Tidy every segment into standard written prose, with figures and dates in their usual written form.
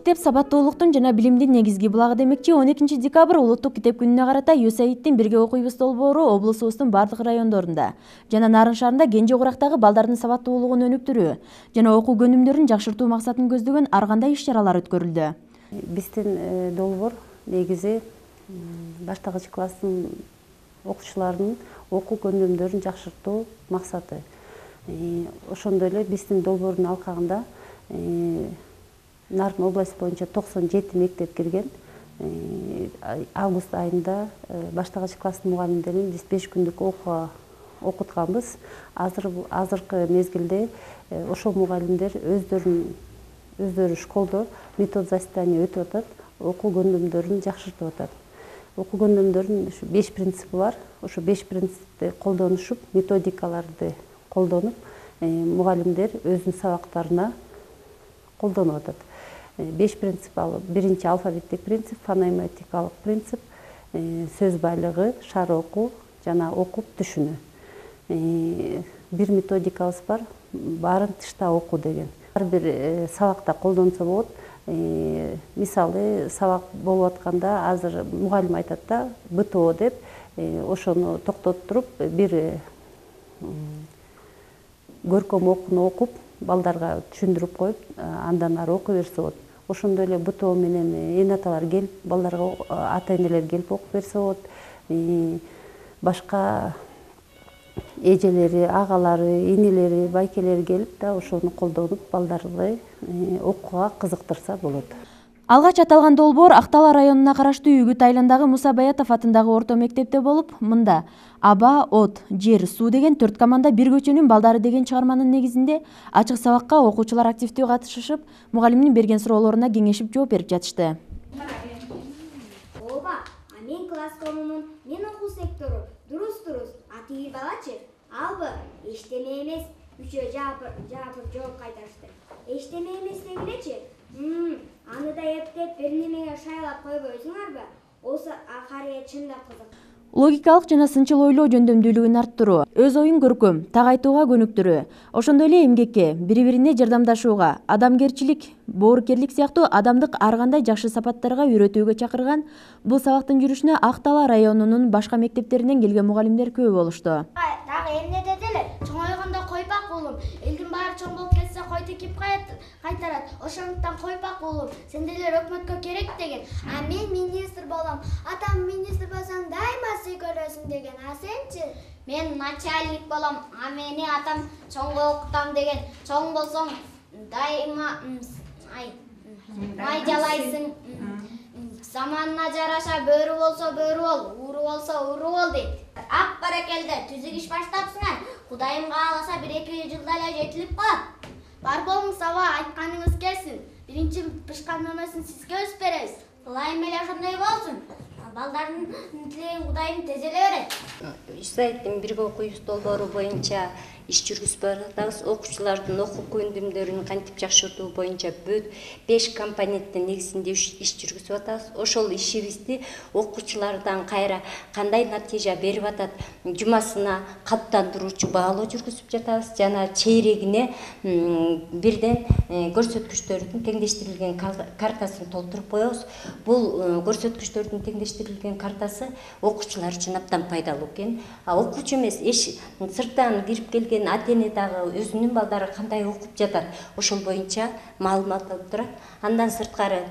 мектеп сабаттуулуктун жана билимдин негизги булагы демекчи 12 декабрь улуттук китеп күнүнө карата USAID'дин бирге окуйбуз долбоору облусубуздун бардык райондорунда жана Нарын шаарында Кенже Курактагы балдардын сабаттуулугун өнүктүрүү жана окуу көнүмдөрүн жакшыртуу максатын көздөгөн ар кандай иш-чаралар өткөрүлдү. Биздин долбоор негизи баштагыч класстын окуучуларынын окуу көнүмдөрүн жакшыртуу максаты. Ошондой эле биздин долбоордун алкагында Нарын область боюнча 97 мектеп кирген. Август айында баштагыч класстын мугалимдерин биз 5 күндүк окутканбыз. Азыркы мезгилде ошол мугалимдер өздөрү школдо метод заседание өтүп атат, окуу көнүмдөрүн жакшыртып атат. Окуу көнүмдөрүнүн 5 принципи бар. Ошо 5 принципти колдонушуп, методикаларды колдонуп, мугалимдер өзүнүн сабактарына колдонуп атат. 5 принцип ал: биринчи алфавиттик принцип, фонематикалык принцип, сөз байлыгы, шаар окуу жана окуп түшүнүү. Бир методикабыз бар, баарын тышта окуу деген. Ар бир сабакта колдонсо болот. Мисалы, сабак болуп атканда азыр мугалим айтат да, БТО деп, ошону токтотуруп, бир көркөм окууну окуп, балдарга түшүндүрүп коюп, андан ары окуй берсе болот. Ошондой эле БТО менен эне-аталар келип, балдарга ата-энелер келип окуп берсе болот. Башка эжелери, агалары, инелери, байкелери келип да ошону колдонуп, балдарды окууга кызыктырса болот. Алгач аталган долбоор Актала районуна караштуу Үгүт айылындагы Муса Баятов атындагы орто мектепте болуп, мында аба, от, жер, суу деген 4 команда бир көчөнүн балдары деген чыгарманын негизинде ачык сабакка окуучулар активдүү катышышып, мугалимдин берген суроолоруна кеңешип жооп берип жатышты. Ооба, мен класс коомунун мен окуу сектору. Дурус. А тиги балачы? Албы, эчтеме эмес. Үчөө жаапыр жооп кайтарышты. Эчтеме эмес дегилечи? Аны да эптеп бир немеге шайлап койбойсуңарбы? Болсо акарыя чындап кызык. Логикалык жана сынчыл ойлоо жөндөмдүүлүгүн арттыруу, өз оюн көркөм, так айтууга көнүктүрүү, ошондой эле эмгекке, бири-бирине жардамдашууга, адамгерчилик, боорукерлик сыяктуу адамдык ар кандай жакшы сапаттарга үйрөтүүгө чакырган бул сабактын жүрүшүнө Актала районунун башка мектептеринен келген мугалимдер көп болушту. Дагы эмне деделе? Чоңойгондо койпак уулум. Элдин баары чоң болуп кетсе кой текип кайтарат. Ошондуктан койпак уулум. Сендейлер өкмөткө керек деген. А мен министр болом. Атам министр болсоң дайыма сый көрөсүң деген. А сенчи? Мен начальник болом. А мени атам чоңго окутам деген. Чоң болсоң дайыма май жалайсың. Заманына жараша бөрү болсо бөрү бол, ууру болсо ууру бол дейт. Ак баракелде түзүк иш баштапсыңар. Кудайым кааласа 1-2 жылда эле жетилип калат. Бар болуңуз аба, айтканыңыз келсин. Биринчи пышкан мөмөсүн сизге өсүп беребиз. Ылайым эле ошондой болсун. Балдардын тилегин Кудайым тез эле берет. USAID'дин бирге окуйбуз долбоору боюнча иш жүргүзүп атабыз. Окуучулардын окуу көнүмдөрүн кантип жакшыртуу боюнча 5 компоненттин негизинде иш жүргүзүп атабыз. Ошол ишибизди окуучулардан кайра кандай натыйжа берип атат, жумасына калыптандыруучу баалоо жүргүзүп жатабыз жана чейрегине бирден көрсөткүчтөрдүн теңдештирилген картасын толтуруп коебуз. Бул көрсөткүчтөрдүн теңдештирилген картасы окуучулар үчүн абдан пайдалуу экен. Окуучу эмес, сырттан кирип келген ата-эне дагы өзүнүн балдары кандай окуп жатат, ошол боюнча маалымат алып турат. Андан сырткары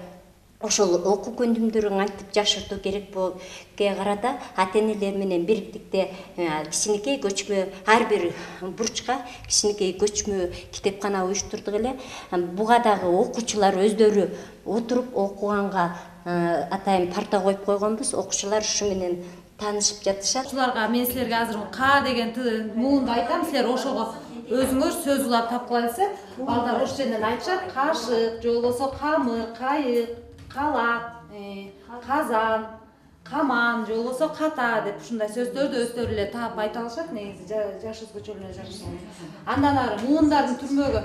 ошол окуу көнүмдөрүн кантип жакшыртуу керекке карата ата-энелер менен бириктикте кичинекей көчмө, ар бир бурчка кичинекей көчмө китепкана уюштурдук эле. Буга дагы окуучулар өздөрү отуруп окуганга атайын парта коюп койгонбуз. Окуучулар ушу менен таанышып жатышат. Окуучуларга мен силерге азыр К деген муунду айтам, силер ошого өзүңөр сөз улап тапкыла десе, балдар ошол жерден айтышат. Кашык, же болбосо камыр, кайык, калак, казан, каман, же болбосо ката деп ушундай сөздөрдү өздөрү эле таап айта алышат. Негизи жаш өзгөчөлүгүнө жараша. Андан ары муундардын түрмөгү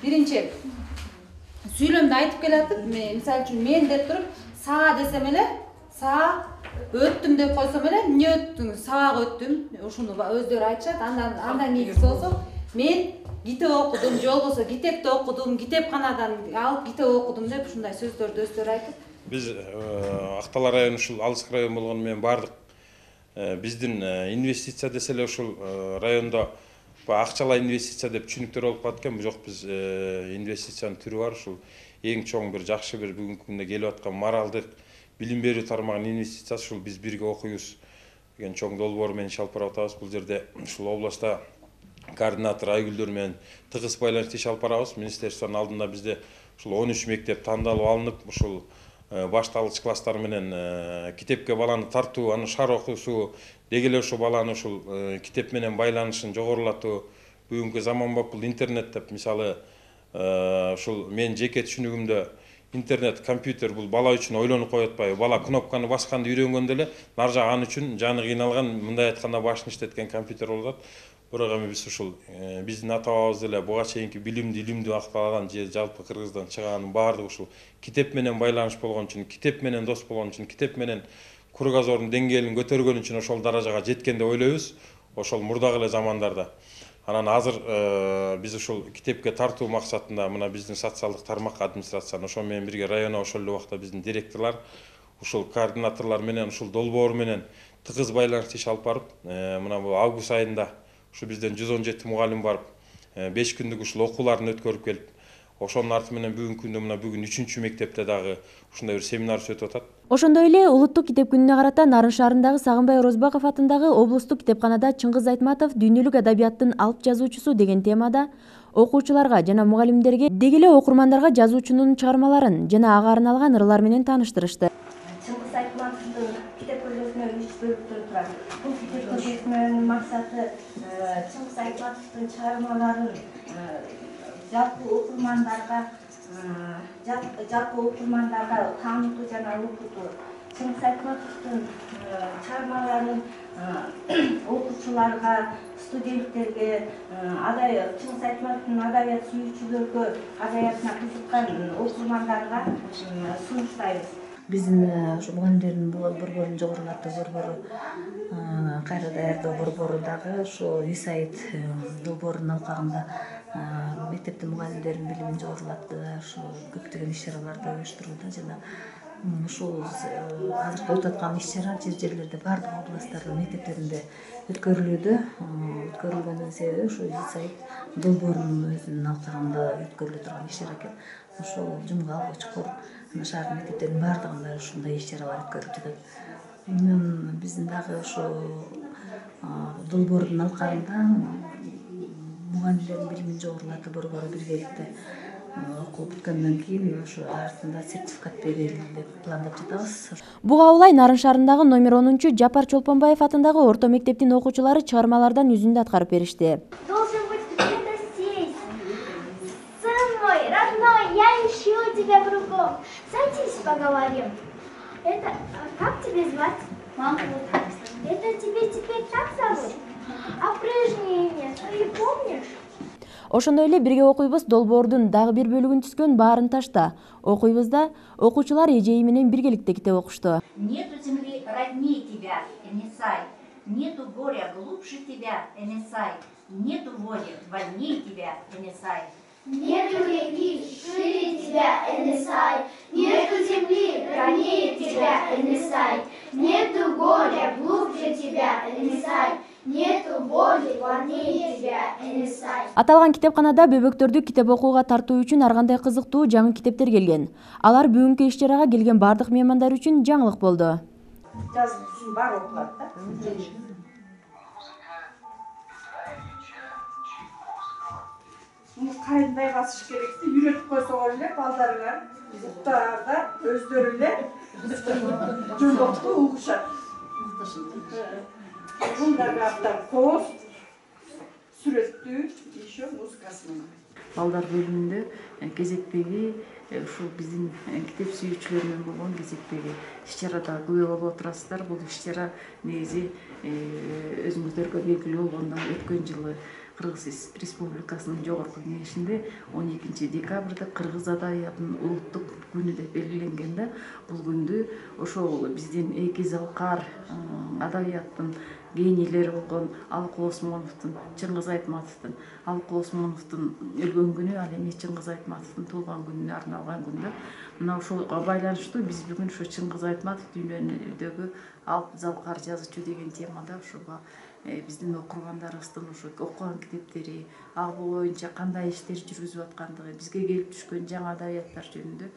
биринчи сүйлөмдү айтып келатып, мисалы үчүн мен деп туруп, саа десем эле, саа өттүм деп койсом эле, эмне өттүң? Саага өттүм. Ушуну өздөрү айтышат. Андан кийинкиси болсо, мен китеп окудум же болбосо китепти окудум, китепканадан алып китеп окудум деп ушундай сөздөрдү өздөрү айтып. Биз Актала району ушул алыскы район болгону менен баардык биздин инвестиция десе эле ушул райондо акчалай инвестиция деп түшүнүктөр болуп калат экен. Жок, биз инвестициянын түрү бар. Ушул эң чоң бир жакшы бир бүгүнкү күндө келип аткан моралдык билим берүү тармагынын инвестициясы ушул биз бирге окуйбуз деген чоң долбоор менен иш алып барып атабыз. Бул жерде ушул областта координатор Айгүлдөр менен тыгыз байланышта иш алып барабыз. Министерствонун алдында бизде ушул 13 мектеп тандалып алынып, ушул башталгыч класстар менен китепке баланы тартуу, аны шаар окуусу, деги эле ошол баланы ушул китеп менен байланышын жогорулатуу, бүгүнкү заманбап бул интернет деп, мисалы ушул менин жеке түшүнүгүмдө интернет, компьютер бул бала үчүн ойлонуп коюп атпайбы? Бала кнопканы басканды үйрөнгөндө эле нар жагы аны үчүн жаны кыйналган, мындай айтканда башын иштеткен компьютер болуп атат. Бирок эми биз ушул биздин ата бабабыз эле буга чейинки билимди, илимди Акталадан же жалпы Кыргыздан чыгаанын баардыгы ушул китеп менен байланыш болгон үчүн, китеп менен дос болгон үчүн, китеп менен кругозордун деңгээлин көтөргөн үчүн ошол даражага жеткен деп ойлойбуз. Ошол мурдагы эле замандарда. Анан азыр биз ушул китепке тартуу максатында мына биздин социалдык тармак администрацияны ошо менен бирге районго ошол эле убакта биздин директорлор, ушул координаторлор менен ушул долбоор менен тыгыз байланышта иш алып барып, мына бул август айында ушу бизден 117 мугалим барып, 5 күндүк ушул окууларын өткөрүп келип, ошонун арты менен бүгүнкү күндө мына бүгүн 3-чү мектепте дагы ушундай бир семинар өтүп атат. Ошондой эле улуттук китеп күнүнө карата Нарын шаарындагы Сагынбай Орозбаков атындагы облустук китепканада Чыңгыз Айтматов дүйнөлүк адабияттын алып жазуучусу деген темада окуучуларга жана мугалимдерге деги эле окурмандарга жазуучунун чыгармаларын жана ага арналган ырлар менен тааныштырышты. Чыңгыз Айтматовдун китеп көргөзмө 3 бөлүктөн турат. Бул китеп көргөзмөнүн максаты Чыңгыз Айтматовдун чыгармаларын жалпы окурмандарга таанытуу жана окутуу. Чыңгыз Айтматовдун чыгармаларын окуучуларга, студенттерге, Чыңгыз Айтматовдун адабият сүйүүчүлөргө, адабиятына кызыккан окурмандарга сунуштайбыз. Биздин ушу мугалимдердин борборун жогорулатуу борбору, кайра даярдоо борбору дагы ошо ЮСАИД долбоорунун алкагында мектептин мугалимдеринин билимин жогорулатты, ошо көптөгөн иш-чараларды уюштурууда жана ушул азыркы өтүп аткан иш-чара жерлерде баардык областтардын мектептеринде өткөрүлүүдө. Өткөрүлгөнүнүн себеби ошо ЮСАИД долбоорунун өзүнүн алкагында өткөрүлө турган иш-чара экен. Ошол жумгал, Учкур, шаардын мектептеринин баардыгында ушундай иш-чаралар өткөрүлүп жатат. Биздин дагы ошо долбоордун алкагында мугалимдердин билимин жогорулатуу борбору биргеликте окуу бүткөндөн кийин ошо артында сертификат берели деп пландап жатабыз. Буга улай Нарын шаарындагы номер 10-чу Жапар Чолпонбаев атындагы орто мектептин окуучулары чыгармалардан үзүндү аткарып беришти. Должен быть где-то здесь. Сын мой, родной, я ищу тебя кругом. Садись, поговорим. Это... Как тебя звать? Мама. Это тебе теперь так зовут? А прежнее имя ты помнишь? Ошондой эле бирге окуйбуз долбоордун дагы бир бөлүгүн түзгөн Баарын ташта. Окуйбузда окуучулар эжеи менен биргеликте китеп окушту. Нету земли роднее тебя, Энесай. Нету горя глубже тебя, Энесай. Нету воли вольнее тебя, Энесай. Нету реки шире тебя, Энесай. Нету земли ранее тебя, Энесай. Нету горя глубже тебя, Энесай. Нету боли вольнее тебя, Энесай. Аталган китепканада бөбөктөрдү китеп окууга тартуу үчүн ар кандай кызыктуу жаңы китептер келген. Алар бүгүнкү иш-чарага келген бардык меймандар үчүн жаңылык болду. Жазуучусун баары окулат да. Кайындай басыш керекти, үйрөтүп койсоңор эле балдарыңар уктаарда өздөрү эле жолдокту угушат. Мындагы аптап коз, сүрөттүү, еще музыкасы менен. Балдар бөлүмүндө кезекпеги ушул биздин китеп сүйүүчүлөр менен болгон кезекпеги иш-чарада күбө болуп отурасыздар. Бул иш-чара негизи өзүңүздөргө белгилүү болгондой өткөн жылы Кыргыз Республикасынын жогорку кеңешинде 12 декабрда кыргыз адабиятынын улуттук күнү деп белгиленген да. Бул күндү ошол биздин эки залкар адабияттын генийлери болгон Алыкул Осмоновдун, Чыңгыз Айтматовдун, Алыкул Осмоновдун өлгөн күнү, ал эми Чыңгыз Айтматовдун туулган күнүнө арналган күндө. Мына ошолго байланыштуу биз бүгүн ошо Чыңгыз Айтматов дүйнөдөгү алп залкар жазуучу деген темада ошого биздин окургандарыбыздын ошо окуган китептери, ал боюнча кандай иштер жүргүзүп аткандыгы, бизге келип түшкөн жаңы адабияттар жөнүндө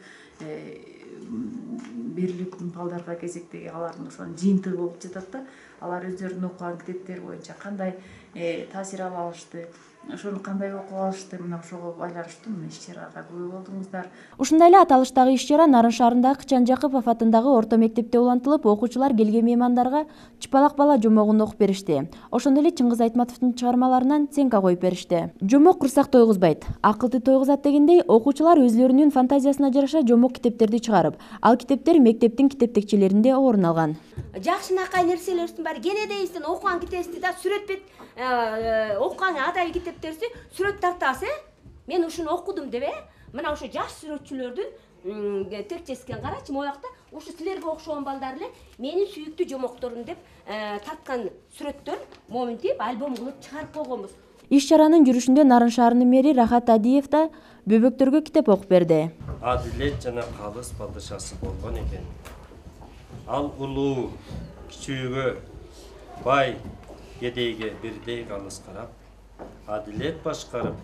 берилип балдарга кезектеги алардын ошонун жыйынтыгы болуп жатат да. Алар өздөрүнүн окуган китептери боюнча кандай таасир ала алышты, ошону кандай окуп алышты, мына ошого байланыштуу мына иш-чарага күбө болдуңуздар. Ушундай эле аталыштагы иш-чара Нарын шаарындагы Кычан Жакыпов атындагы орто мектепте улантылып, окуучулар келген меймандарга чыпалак бала жомогун окуп беришти. Ошондой эле Чыңгыз Айтматовдун чыгармаларынан ценка коюп беришти. Жомок курсак тойгузбайт, акылды тойгузат дегендей, окуучулар өзлөрүнүн фантазиясына жараша жомок китептерди чыгарып, ал китептер мектептин китептекчелеринде орун алган. Жакшынакай нерселерибиздин баары кенедейибиздин окуган китебибизди да сүрөт бет окуган адабий китептерибизди сүрөт тартабыз, мен ушуну окудум деп, мына ошо жаш сүрөтчүлөрдүн текчесин карачы, моякта ушу силерге окшогон балдар эле менин сүйүктүү жомокторум деп тарткан сүрөттөр моминтип альбом кылып чыгарып койгонбуз. Иш-чаранын жүрүшүндө Нарын шаарынын мэри Рахат Адиев да бөбөктөргө китеп окуп берди. Адилет жана калыс падышасы болгон экен. Ал улуу кичүүгө, бай кедейге бирдей калыс карап, адилет башкарып,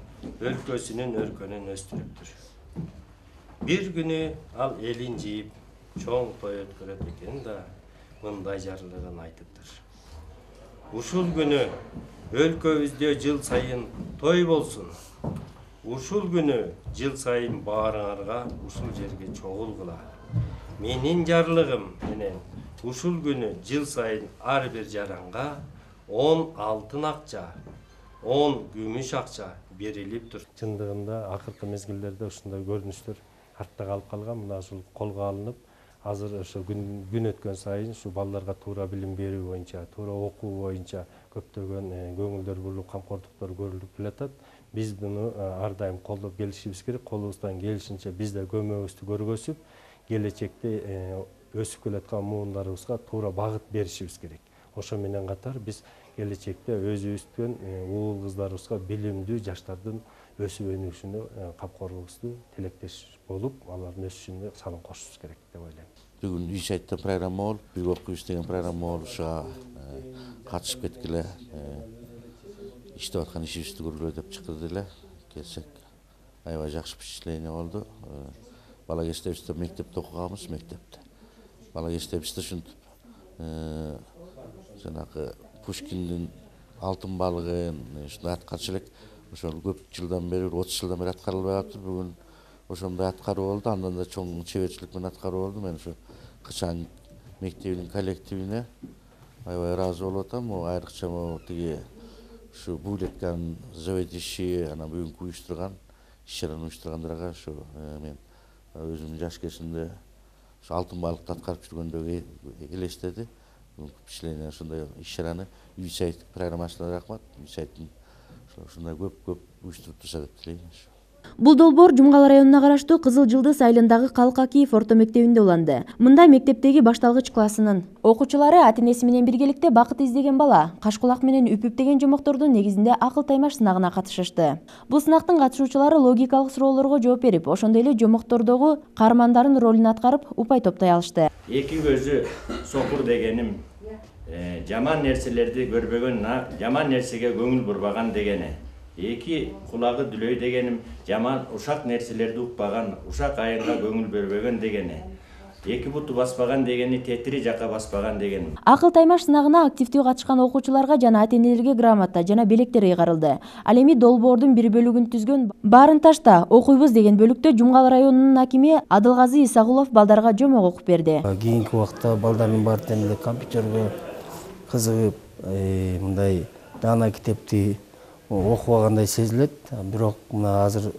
өлкөсүнүн өркөнүн өстүрүптүр. Бир күнү ал элин жыйып, чоң той өткөрөт экен да, мындай жарлыгын айтыптыр. Ушул күнү өлкөбүздө жыл сайын той болсун. Ушул күнү жыл сайын баарыңарга ушул жерге чогулгула. Менин жарлыгым менен ушул күнү жыл сайын ар бир жаранга 10 алтын акча, 10 күмүш акча берилип тур. Чындыгында акыркы мезгилдерде ушундай көрүнүштөр артта калып калган. Мына ушул колго алынып, азыр ошо күн өткөн сайын ушу балдарга туура билим берүү боюнча, туура окуу боюнча көптөгөн көңүлдөр бурулуп, камкордуктор көрүлүп келатат. Биз буну ар дайым колдоп келишибиз керек. Колубуздан келишинче биз да көмөгүбүздү көргөзүп, келечекте өсүп келаткан муундарыбызга туура багыт беришибиз керек. Ошо менен катар биз келечекте өзүбүздүн уул кыздарыбызга билимдүү жаштардын өсүп өнүгүшүнө камкорлугубузду тилектеш болуп, алардын өсүшүнө салым кошушубуз керек деп ойлойм. Бүгүн үй сайтта программа болуп, бир окуйбуз деген программа болуп, ошого катышып кеткиле, иштеп аткан ишибизди көргүлө деп чыкты деле. Келсек, аябай жакшы впечатление болду. Бала кезибизде мектепте окуганбыз, мектепте. Бала кезибизде ушинтип жанагы Пушкиндин алтын балыгын ушундай аткарчу элек. Ошол көп жылдан бери, 30 жылдан бери аткарылбай калыптыр. Бүгүн ошондой аткаруу болду, андан да чоң чеберчилик менен аткаруу болду. Мен ошо Кычан мектебинин коллективине аябай ыраазы болуп атам. Айрыкча тиги ушу Булеткан заведующий, анан бүгүнкү уюштурган, иш-чараны уюштургандарга ошо мен өзүмдүн жаш кезимде ошо алтын балыкты аткарып жүргөндөгү элестеди. Впечатление ошондой иш-чараны үй сайт программасына рахмат. Үй сайттын ушундай көп уюштуруп турса деп тилейм. Бул долбоор Жумгал районуна караштуу Кызыл Жылдыз айылындагы Калкакиев орто мектебинде уланды. Мында мектептеги башталгыч классынын окуучулары ата-энеси менен биргеликте бакыт издеген бала кашкулак менен үпүп деген жомоктордун негизинде акыл таймаш сынагына катышышты. Бул сынактын катышуучулары логикалык суроолорго жооп берип, ошондой эле жомоктордогу каармандардын ролун аткарып, упай топтой алышты. Эки көзү сокур дегеним жаман нерселерди көрбөгөн, жаман нерсеге көңүл бурбаган дегени. Эки кулагы дүлөй дегеним жаман ушак нерселерди укпаган, ушак айынга көңүл бербеген дегени. Эки буту баспаган дегени тетири жака баспаган дегени. Акыл таймаш сынагына активдүү катышкан окуучуларга жана ата-энелерге грамота жана белектер ыйгарылды. Ал эми долбоордун бир бөлүгүн түзгөн Барын ташта окуйбуз деген бөлүктө Жумгал районунун акими Адылгазы Исагулов балдарга жомок окуп берди. Кийинки убакта балдардын баары тең эле компьютерге кызыгып, мындай даана китепти окубагандай сезилет. Бирок мына азыр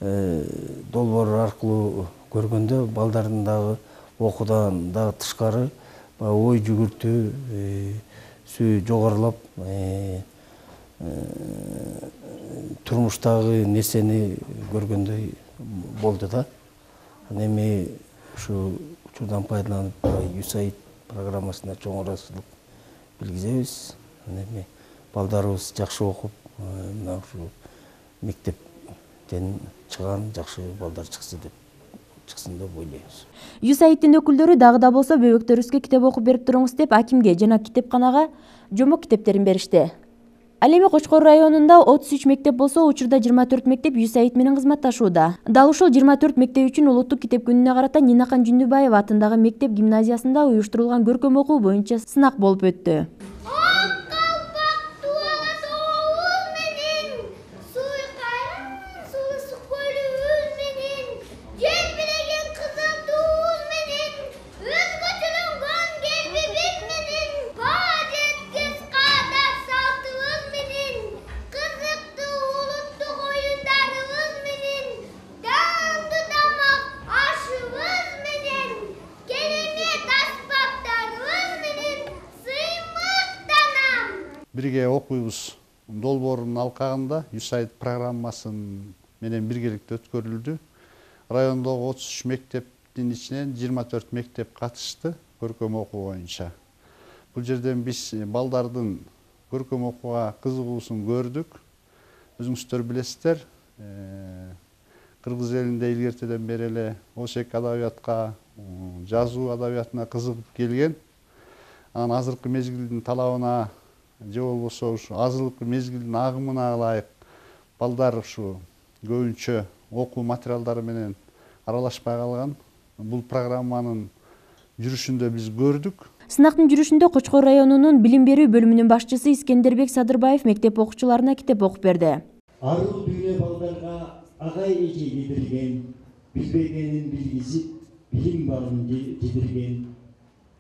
долбоор аркылуу көргөндө балдардын дагы окуудан дагы тышкары ой жүгүртүү жогорулап, турмуштагы нерсени көргөндөй болду да. Анан эми ушу учурдан пайдаланып USAID программасына чоң ыраазычылык билгизебиз. Анан эми балдарыбыз жакшы окуп, мына ушу мектептен чыган жакшы балдар чыксын деп ойлойбуз. USAID'тин өкүлдөрү дагы да болсо бөбөктөрүбүзгө китеп окуп берип туруңуз деп акимге жана китепканага жомок китептерин беришти. Ал эми Кочкор районунда 33 мектеп болсо, учурда 24 мектеп USAID менен кызматташууда. Дал ушул 24 мектеп үчүн улуттук китеп күнүнө карата Нинахан Жүндүбаева атындагы мектеп гимназиясында уюштурулган көркөм окуу боюнча сынак болуп өттү. Бирге окуйбуз долбоорунун алкагында USAID программасын менен биргеликте өткөрүлдү. Райондогу 33 мектептин ичинен 24 мектеп катышты көркөм окуу боюнча. Бул жерден биз балдардын көркөм окууга кызыгуусун көрдүк. Өзүңүздөр билесиздер, кыргыз элинде илгертеден бери эле Ошек адабиятка, жазуу адабиятына кызыгып келген. Анан азыркы мезгилдин талабына же болбосо ушу азыркы мезгилдин агымына ылайык балдар ушу көбүнчө окуу материалдары менен аралашпай калган. Бул программанын жүрүшүндө биз көрдүк. Сынактын жүрүшүндө Кочкор районунун билим берүү бөлүмүнүн башчысы Искендербек Садырбаев мектеп окуучуларына китеп окуп берди. Аруу дүйнө балдарга агай эже жетирген, билбегенин билгизип, билим багын жетирген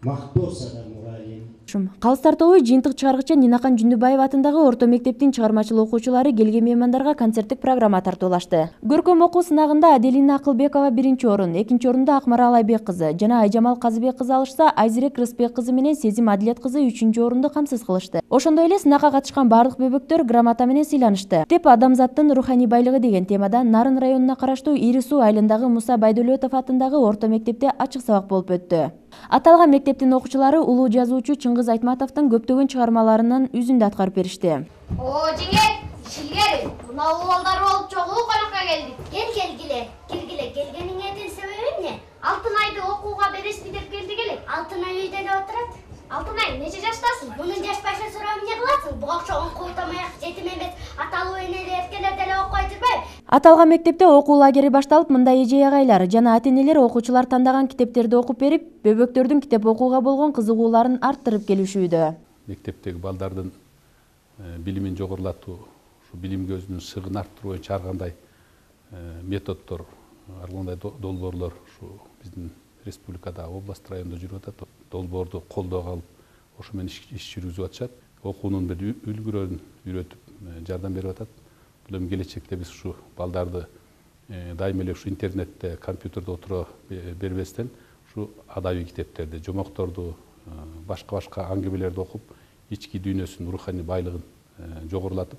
мактоо сада мугалим. Калыстар тобу жыйынтык чыгаргычы Нинахан Жүндүбаева атындагы орто мектептин чыгармачыл окуучулары келген меймандарга концерттик программа тартуулашты. Көркөм окуу сынагында Аделина Акылбекова 1-орун, 2-орунду Акмарал Айбек кызы жана Айжамал Казыбек кызы алышса, Айзирек Рыспек кызы менен Сезим Адилет кызы 3-орунду камсыз кылышты. Ошондой эле сынакка катышкан бардык бөбөктөр грамота менен сыйланышты. Деп адамзаттын руханий байлыгы деген темада Нарын районуна караштуу Ири Суу айылындагы Муса Байдөлөтов атындагы орто мектепте ачык сабак болуп өттү. Аталган мектептин окуучулары улуу жазуучу Чыңгыз Айтматовдун көптөгөн чыгармаларынын үзүндү аткарып беришти. О, жеңет, шилгер, мына балдар болуп чогуу конокко келдик. Келгениңердин себеби эмне? Алтынайды окууга бересизби деп келдик эле. Алтынай үйдө эле отурат. Алтынай, нече жаштасың? Мунун жаш башы сурап эмне кыласың? Буга окшогон култамаяк жетим эмес, аталуу энели эркелер деле окуй жүрбөйбү? Аталган мектепте окуу лагери башталып, мындай эже-агайлар жана ата-энелер окуучулар тандаган китептерди окуп берип, бөбөктөрдүн китеп окууга болгон кызыгууларын арттырып келишүүдө. Мектептеги балдардын билимин жогорулатуу, ушу билим көзүнүн сыгын арттыруу боюнча ар кандай методдор, ар кандай долбоорлор ушу биздин республикада, область, районда жүрүп атат. Долбоорду колдоого алып, ошо менен иш жүргүзүп атышат. Окуунун бир үлгүрөн үйрөтүп, жардам берип атат. Бул эми келечекте биз ушу балдарды дайыма эле ушу интернетте, компьютерде отура бербестен, ушу адабий китептерди, жомокторду, башка аңгемелерди окуп, ички дүйнөсүнүн руханий байлыгын жогорулатып,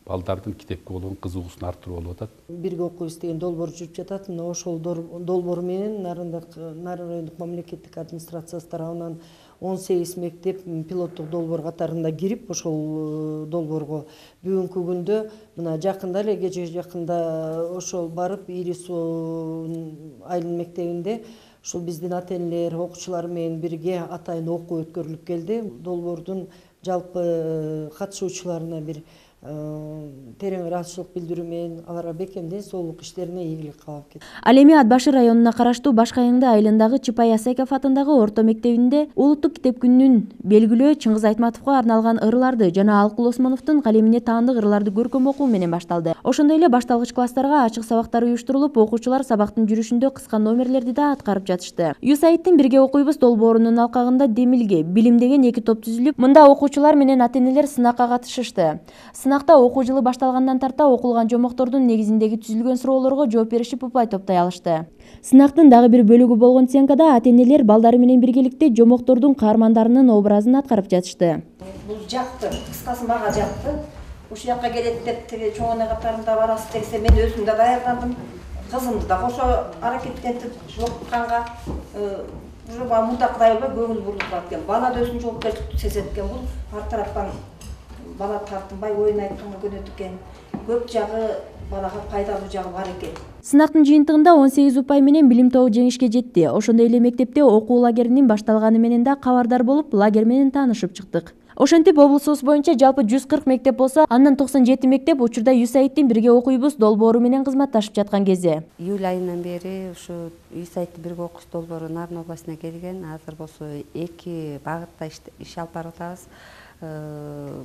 балдардын китепке болгон кызыгуусун арттыруу болуп атат. Бирге окуйбуз деген долбоор жүрүп жатат. Мына ошол долбоор менен Нарын райондук мамлекеттик администрациясы тарабынан 18 мектеп пилоттук долбоор катарында кирип, ошол долбоорго бүгүнкү күндө мына жакында эле кече жакында ошол барып Ири Суу айылынын мектебинде ушул биздин ата-энелер, окуучулар менен бирге атайын окуу өткөрүлүп келди. Долбоордун жалпы катышуучуларына бир терең ыраазычылык билдирүү менен аларга бекем ден соолук иштерине ийгилик каалап кетти. Ал эми Ат башы районуна караштуу Башкайыңды айылындагы Чыпай Асайков атындагы орто мектебинде улуттук китеп күнүнүн белгилөө Чыңгыз Айтматовго арналган ырларды жана Алкул Осмоновдун калемине таандык ырларды көркөм окуу менен башталды. Ошондой эле башталгыч класстарга ачык сабактар уюштурулуп, окуучулар сабактын жүрүшүндө кыска номерлерди да аткарып жатышты. USAID'тин бирге окуйбуз долбоорунун алкагында Демилге, Билим деген 2 топ түзүлүп, мында окуучулар менен ата-энелер сынакка катышышты. Сынакта окуу жылы башталгандан тарта окулган жомоктордун негизиндеги түзүлгөн суроолорго жооп беришип упай топтой алышты. Сынактын дагы бир бөлүгү болгон сценкада ата-энелер балдары менен биргеликте жомоктордун каармандарынын образын аткарып жатышты. Бул жакты, кыскасы мага жакты. ушул жакка келет деп тиги чоң эне катарында барасыз десе мен өзүм да даярдандым, кызымды да кошо аракеттентип окутканга уже мурдакыдай эле көңүл бурулат экен. Бала да өзүнүн жоопкерчиликти сезет экен. Бул ар тараптан бала тартынбай оюн айтканга көнөт экен. Көп жагы балага пайдалуу жагы бар экен. Сынактын жыйынтыгында 18 упай менен билим тобу жеңишке жетти. Ошондой эле мектепте окуу лагеринин башталганы менен да кабардар болуп, лагерь менен таанышып чыктык. Ошентип облусубуз боюнча жалпы 140 мектеп болсо, андан 97 мектеп учурда USAID-тин бирге окуйбуз долбоору менен кызматташып жаткан кези. Июль айынан бери ушу USAID-тин бирге окуш долбоору Нарын областына келген. Азыр болсо 2 багытта иш алып барып атабыз.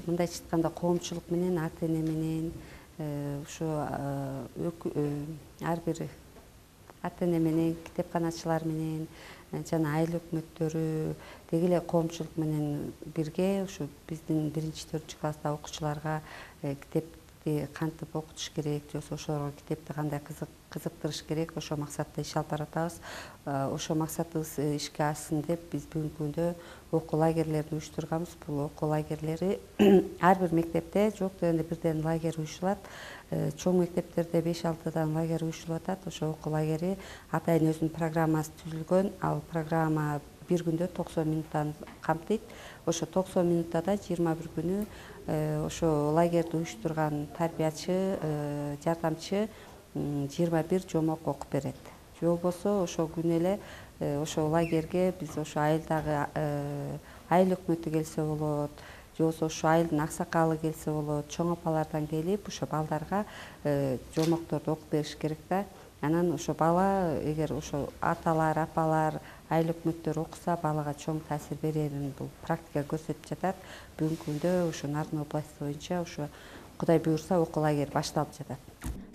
Мындайча айтканда коомчулук менен, ата-эне менен, ушу ар бир ата-эне менен, китепканачылар менен, жана айыл өкмөттөрү, деги эле коомчулук менен бирге ушу биздин 1-4 класста окуучуларга китепти кантип окутуш керек, же ошолорго китепти кандай кызыктырыш керек, ошол максатта иш алып баратабыз. Ошол максатыбыз ишке ашсын деп биз бүгүнкү күндө окуу лагерлерин уюштурганбыз. Бул окуу лагерлери ар бир мектепте жок дегенде бирден лагерь уюшулат. Чоң мектептерде 5-6 лагерь уюшулуп атат. Ошол окуу лагери атайын өзүнүн программасы түзүлгөн. Ал программа бир күндө 90 минуттан камтыйт. Ошо 90 минутта да 21 күнү ошо лагерди уюштурган тарбиячы, жардамчы 21 жомок окуп берет. Же болбосо ошол күнү эле ошол лагерге биз ошо айылдагы айыл өкмөтү келсе болот, же болбосо ошо айылдын аксакалы келсе болот, чоң апалардан келип ошо балдарга жомокторду окуп бериш керек да. Анан ошо бала эгер ошо аталар, апалар, айыл өкмөттөр окуса, балага чоң таасир берерин бул практика көрсөтүп жатат. Бүгүнкү күндө ошо Нарын областы боюнча ошо Кудай буйрса окуу лагери башталып жатат.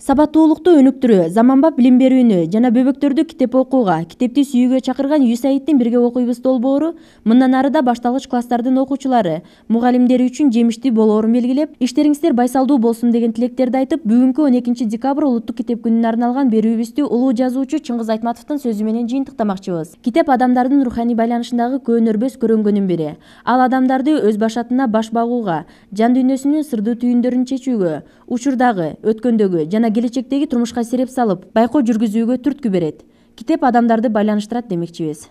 Сабаттуулукту өнүктүрүү, заманбап билим берүүнү жана бөбөктөрдү китеп окууга, китепти сүйүүгө чакырган USAID-тин бирге окуйбуз долбоору мындан ары да башталгыч класстардын окуучулары, мугалимдери үчүн жемиштүү болоорун белгилеп, иштериңиздер байсалдуу болсун деген тилектерди айтып, бүгүнкү 12 декабрь улуттук китеп күнүнө арналган берүүбүздү улуу жазуучу Чыңгыз Айтматовдун сөзү менен жыйынтыктамакчыбыз. Китеп адамдардын руханий байланышындагы көөнөрбөс көрөнгөнүн бири. Ал адамдарды өз башатына баш багууга, жан дүйнөсүнүн сырдуу түйүндөрүн чечүүгө, учурдагы, өткөндөгү жана келечектеги турмушка сереп салып, байкоо жүргүзүүгө түрткү берет. Китеп адамдарды байланыштырат демекчибиз.